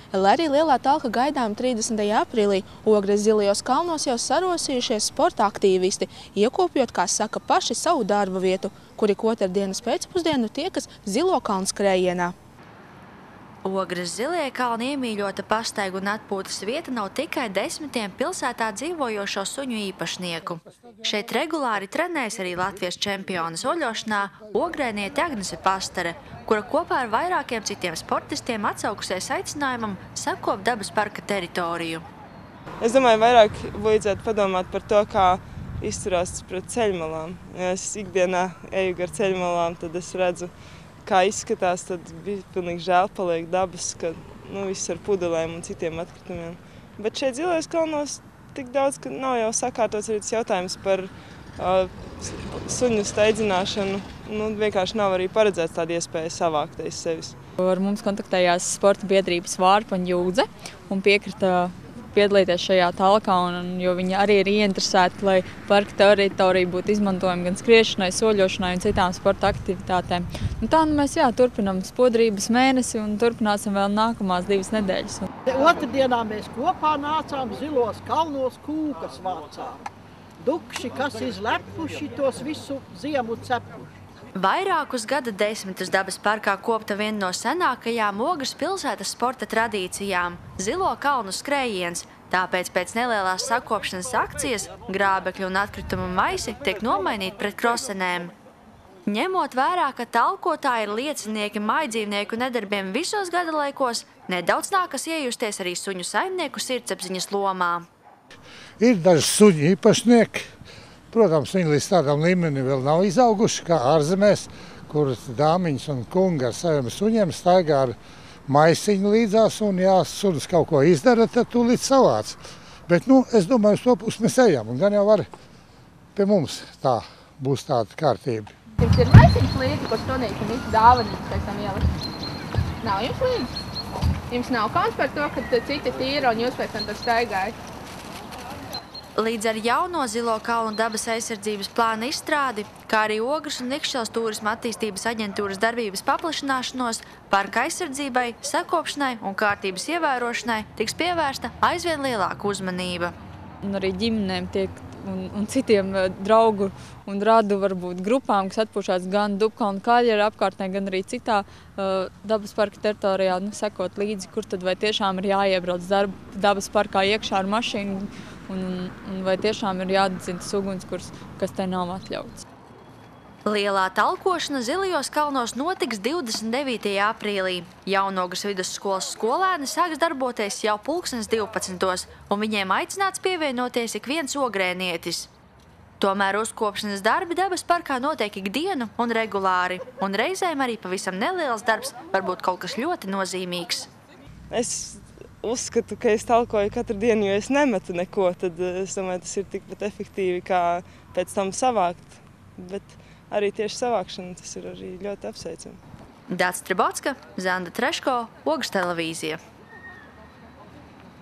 Lai arī lielā talka gaidām 30. aprīlī, Ogres Zilajos kalnos jau sarosījušies sporta aktīvisti, iekopjot, kā saka, paši savu darba vietu, kuri otrdienas pēcpusdienu tiekas Zilo kalnu skrējienā. Ogres Zilie kalni iemīļota pastaigu un atpūtas vieta nav tikai desmitiem pilsētā dzīvojošo suņu īpašnieku. Šeit regulāri trenējas arī Latvijas čempiona soļošanā ogrēniete Agnese Pastare, kura kopā ar vairākiem citiem sportistiem atsaukusies aicinājumam sakopt dabas parka teritoriju. Es domāju, vairāk vajadzētu padomāt par to, kā izturās pret ceļmalām. Ja es ikdienā eju gar ceļmalām, tad es redzu, kā izskatās, tad bija pilnīgi žēl paliek dabas, ka viss ar pudelēm un citiem atkritumiem. Bet šeit Zilajos kalnos tik daudz, ka nav jau sakārtots arī tas jautājums par suņu steidzināšanu. Vienkārši nav arī paredzēts tāda iespēja savākt aiz sevis. Ar mums kontaktējās sporta biedrības Vārpa un Jūdze un piekrita piedalīties šajā talkā, jo viņi arī ir ieinteresēti, lai parka teritorija būtu izmantojama gan skriešanai, soļošanai un citām sporta aktivitātēm. Tā mēs turpinām spodrības mēnesi un turpināsim vēl nākamās 2 nedēļas. Otrdienā mēs kopā nācām Zilos kalnos kūkas vācām. Dukši, kas izlepuši, tos visu ziemu cepuši. Vairākus gada desmitus dabas parkā kopta viena no senākajām Ogres pilsētas sporta tradīcijām – Zilo kalnu skrējiens. Tāpēc pēc nelielās sakopšanas akcijas grābekļu un atkritumu maisi tiek nomainīti pret krosenēm. Ņemot vērā, ka talkotāji ir liecinieki maidzīvnieku nedarbiem visos gada laikos, nedaudz nākas iejusties arī suņu saimnieku sirdsapziņas lomā. Ir daži suņu īpašnieki. Protams, viņi līdz tādam līmenim vēl nav izauguši, kā ārzemēs, kur dāmiņas un kungi ar saviem suņiem staigā ar maisiņu līdzās, un ja sunis kaut ko izdara, tad tūlīt savāc. Bet, es domāju, uz to pusi mēs ejam, un gan jau var pie mums tā būs tāda kārtība. Jums ir maisiņas līdzi, ko sunīši un visi dāvanas pēc tam ielikt? Nav jums līdzi? Jums nav kauns par to, ka citi tīra un jūs pēc tam tur staigājat? Līdz ar jauno Zilo kalnu dabas aizsardzības plāna izstrādi, kā arī Ogres un Ikšķeles turisma attīstības aģentūras darbības paplašināšanos, parka aizsardzībai, sakopšanai un kārtības ievērošanai tiks pievērsta aizvien lielāka uzmanība. Un arī ģimenēm un citiem draugu un radu varbūt grupām, kas atpūšās gan Dubkalnu Kaļera apkārtnē, gan arī citā dabas parka teritorijā, sekot līdzi, kur tad vai tiešām ir jāiebrauc dabas parkā iekšā ar mašīnu, un vai tiešām ir jādedzina ugunskurs, kas te nav atļauts. Lielā talkošana Zilajos kalnos notiks 29. aprīlī. Jaunogres vidusskolas skolēni sāks darboties jau 12. un viņiem aicināts pievienoties ik viens ogrēnietis. Tomēr uzkopšanas darbi dabas parkā notiek ikdienu un regulāri, un reizēm arī pavisam neliels darbs var būt kaut kas ļoti nozīmīgs. Es uzskatu, ka es talkoju katru dienu, jo es nemetu neko, tad es domāju, tas ir tikpat efektīvi, kā pēc tam savākt. Bet arī tieši savākšana tas ir arī ļoti apsveicami. Dāca Tribotska, Zanda Treško, Ogres televīzija.